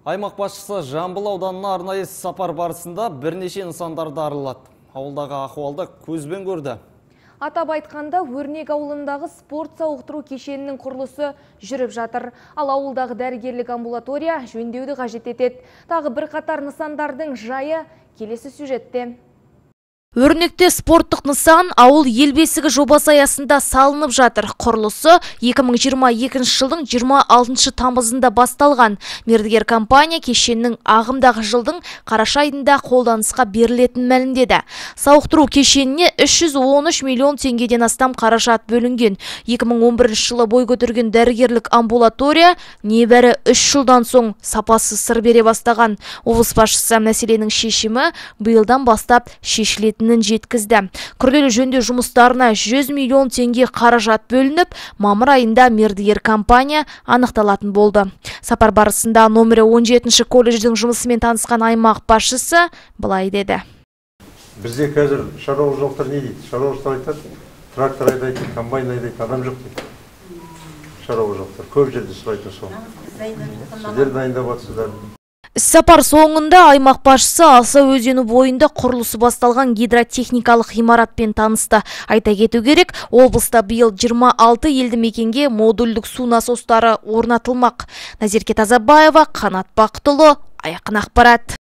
Аймақ басшысы Жамбыл ауданына арнайы сапар барысында бірнеше нысандарды аралады. Ауылдағы ахуалды көзбен көрді. Атап айтқанда, Өрнек ауылындағы спорт сауықтыру кешенінің құрылысы жүріп жатыр. Ал ауылдағы дәрігерлік амбулатория жөндеуді қажет етеді. Тағы бірқатар нысандардың жайы келесі сюжетте. Өрнекте спорттық нысан ауыл ел бесігі жобасы аясында салынып жатыр. Құрылысы 2022 жылдың 26 тамызында басталған. Мердігер компания кешеннің ағымдағы жылдың қараша айында қолданысқа берілетін мәлімдеді. Сауықтыру кешеніне 313 миллион теңгеден астам қаражат бөлінген. 2011 жылы бой көтерген дәрігерлік амбулатория небәрі 3 жылдан соң сапасы сыр бере бастаған. Облыс басшысы мәселенің шешімі биылдан бастап шешілетінін жеткізді. Күрделі жөндеу жұмыстарына 100 миллион теңге қаражат бөлініп, мамыр айында мердігер компания анықталатын болды. Сапар барысында номері 17-ші колледждің жұмысымен танысқан аймақ басшысы былай деді. Бізде қазір шаруашылықтар не дейді? Шаруашылықтар айтады, трактор айдайды, комбайн айдайды, адам жоқ дейді. Шаруашылықтар көп жерде сұрайтын сол. Сіздер дайындап жатсыздар. Сапар соңында аймақ басшысы Алса өзені бойында құрылысы басталған гидротехникалық ғимаратпен танысты. Айта кету керек, облыста биыл 26 елді мекенге модульдік су насостары орнатылмақ. Назерке Тазабаева, Қанат Бақтылы, Айқын ақпарат.